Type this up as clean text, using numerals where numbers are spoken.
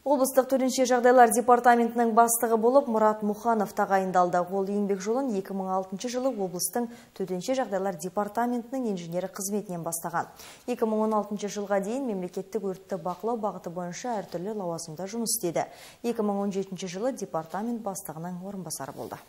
Облыстық төтенше жағдайлар департаментінің бастығы болып Мұрат Мұханов тағайындалды. Ол еңбек жолын 2006 жылы облыстың төтенше жағдайлар департаментінің инженері қызметінен бастаған. 2016 жылға дейін мемлекеттік өртті бақылау бағыты бойынша әртүрлі лауазымда жұмыс істеді. 2017 жылы департамент бастығының орынбасары болды.